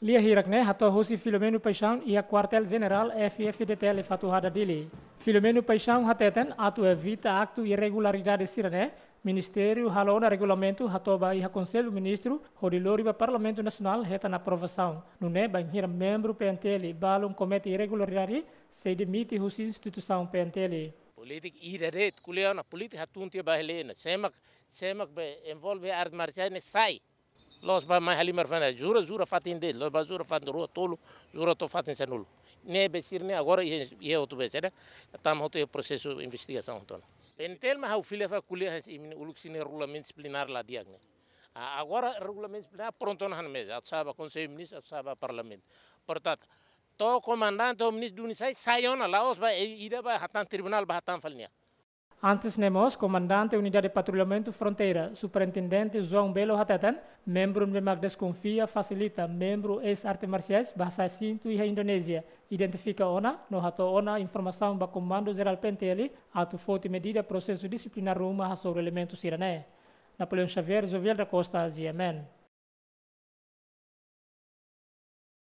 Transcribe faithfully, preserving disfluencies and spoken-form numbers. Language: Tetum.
Lia hirak ne'e hato'o husi Filomeno Paixão iha Kuartél Jenerál F-FDTL Fatuhada, Dili. Filomeno Paixão hateten atu evita aktu irregularidade sira-ne'e, Ministériu halo ona regulamentu hato'o ba iha Konsellu Ministru hodi lori ba Parlamentu Nasionál hetan aprovasaun. Nune'e bainhira membru P N T L balun komete irregularidade, sei demite husi instituisaun P N T L. Polítika ida de'it, ko'alia ona polítika hatun tiha ba hela ne'e. Sé mak, sé mak be envolve arte marsiais ne'e sai. La'ós ba mai halimar fana, jura, jura fatin de'it, la'ós ba jura fatin rua, tolu, jura to'o fatin sanulu. Ne'ebé sira-ne'e agora iha, iha hotu be sira, tama hotu iha prosesu investigasaun hotu ona. P N T L mak ha'u fila fali ko'alia hanesan imi-nia uluk sira-nia regulamentu disiplinár la di'ak ne'e. Ah, agora regulamentu disiplinár prontu ona iha meza, atu sa'e ba Konsellu Ministru, atu sa'e ba Parlamentu. Portantu, to'o komandante ou ministru duni sai, sai ona, la'ós ba, i-, ida ba hatán tribunál ba hatán fali nia. Antes ne'e mós, Komandante Unidade Patrullamentu Fronteira, Superintendente João Belo hateten, membrun be mak deskonfia fasilita membru eis arte marsiais ba hasa'e sintu iha Indonézia, identifika ona no hato'o ona informasaun ba Komandu Jerál P N T L atu foti medida prosesu disiplinár ruma hasoru elementu sira-ne'e. Napoleão Xavier, Jovial da Costa, G M N.